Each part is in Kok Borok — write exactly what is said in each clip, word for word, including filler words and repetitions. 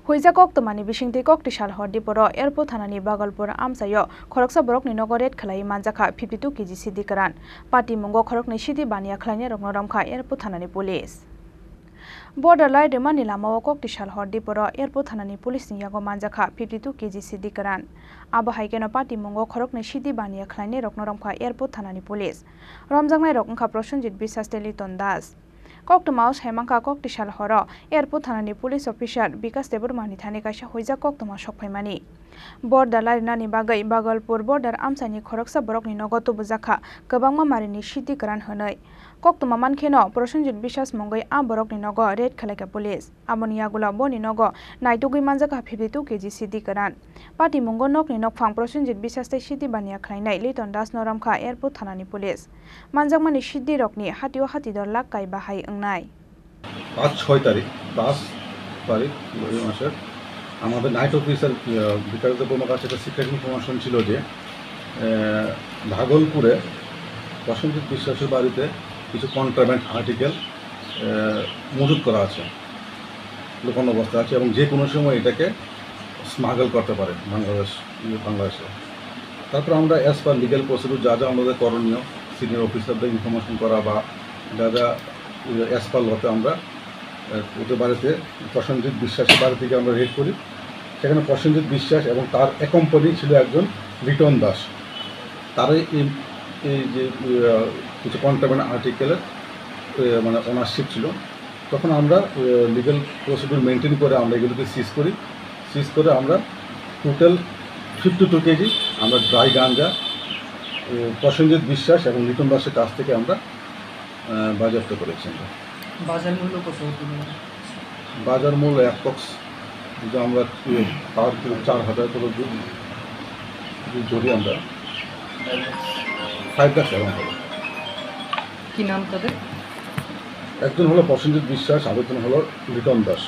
Huijak koktwmani bisingtwi Koktisal hor Diporo Airport thanani Bagalpur amchaio khoroksa borokni nogo raid khlaiwi manjakha fifty two K G sidi kwran. Patimungo khoroknwi sidi baniya khlainairokno romkha Airport thanani police. Border lai rwmani lamao Koktisal hor Diporo Airport thanani police ni yago manjakha fifty two K G sidi kwran. Abo hai kheno patimungo khoroknwi sidi baniya khlainairokno romkha Airport thanani police. Romjaknairok wngkha Prosenjit Biswas tei Liton Das. Koktwmao saimankha Koktisal horo Airport thanani police officer Bikas Debbarmani thani kaisa huijak koktwma sokphaimani. Border larinani bagwi Bagalpur border amchaini khoroksa borokni nogo tubujakha kwbangma marini sidi kwran hwnwi. Koktwma mankheno Prosenjit Biswas mungwi a borokni nogo raid khlaikha police. Aboni yagulo boni nogo naitugwi manjakha fifty two K G sidi kwran. Patimungo nokni nokphang Prosenjit Biswas tei sidi baniya khlainai Liton Das no romkha Airport thanani police. Manjakmani sidirokni hatio hatidor lak kai bahai wngnai. পাঁচ ছয় তারিখ, পাঁচ তারিখ এই মাসের আমাদের night officer, আহ, বিকাশ দেববর্মার কাছে একটা সিক্রেট ইনফরমেশন ছিল যে, আহ, ভাগলপুরে প্রসেনজিৎ বিশ্বাসের বাড়িতে কিছু কন্ট্রাব্যান্ড আর্টিকেল, আহ, মজুত করা আছে, লুকানো অবস্থা আছে এবং যে কোনো সময় এটাকে স্মাগল করতে পারে বাংলাদেশ, ইয়ে, বাংলাদেশে। তারপর আমরা অ্যাজ পার লিগ্যাল প্রসিডিউর যা যা আমাদের করণীয়, সিনিয়র অফিসারদের ইনফরমেশন করা বা যা যা, ইয়ে, অ্যাজ পার লতে আমরা, আহ, ওদের বাড়িতে প্রসেনজিৎ বিশ্বাসের বাড়ি থেকে আমরা রেড করি। সেখানে প্রসেনজিৎ বিশ্বাস এবং তার অ্যাকম্পানি ছিল একজন লিটন দাস। তারাই এই, এই যে, আহ, কিছু কন্ট্রাব্যান্ড আর্টিকেলের, আহ, মানে ওনারশিপ ছিল। তখন আমরা, আহ, লিগ্যাল প্রসিডিউর মেনটেন করে আমরা এগুলোকে সিজ করি। সিজ করে আমরা টোটাল ফিফটি টু কেজি আমরা ড্রাই গাঞ্জা, আহ, প্রসেনজিৎ বিশ্বাস এবং লিটন দাসের কাছ থেকে আমরা, আহ, বাজেয়াপ্ত করেছি আমরা। বাজার মূল্য কত হতে পারে? বাজার মূল্য অ্যাপ্রক্স যদি আমরা, ইয়ে, পার কিলো চার হাজার করে যদি, যদি ধরি আমরা, ফাইভ লাখ অ্যামাউন্ট হবে। কি নাম তাদের? একজন হলো প্রসেনজিৎ বিশ্বাস, আরেকজন হলো লিটন দাস।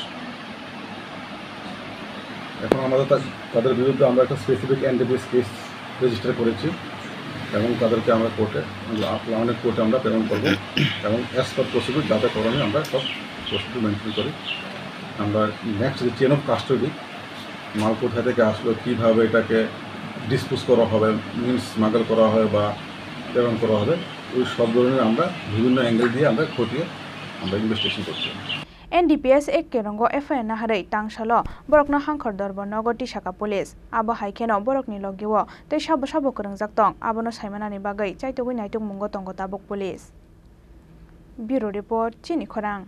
এখন আমাদের তা-, তাদের বিরুদ্ধে আমরা একটা স্পেসিফিক এনডিপিএস কেস রেজিস্টার করেছি এবং তাদেরকে আমরা কোর্টে, লা-, লালনের কোর্টে আমরা প্রেরণ করব এবং অ্যাজ পার প্রসিডিউর যা যা করণীয় আমরা সব প্রসিডিউর মেনটেন করি। আমরা নেক্সট যে চেন অফ কাস্টডি, মাল কোথায় থেকে আসলো, কীভাবে এটাকে ডিসপোজ করা হবে, মিনস স্মাগল করা হয় বা প্রেরণ করা হবে, ওই সব ধরনের আমরা বিভিন্ন অ্যাঙ্গেল দিয়ে আমরা খতিয়ে আমরা ইনভেস্টিগেশন করছি। N D P S ek kerongo F I R naharwi tangsalo borokno hangkhor dorbo nogo tisaka police. Abo hai kheno borokni logio tei sabo sabo kwrwngjak tong, abono saimanani bagwi chaitugwi naitugmungo tongo tabuk police. Bureau Report, Chini Khorang.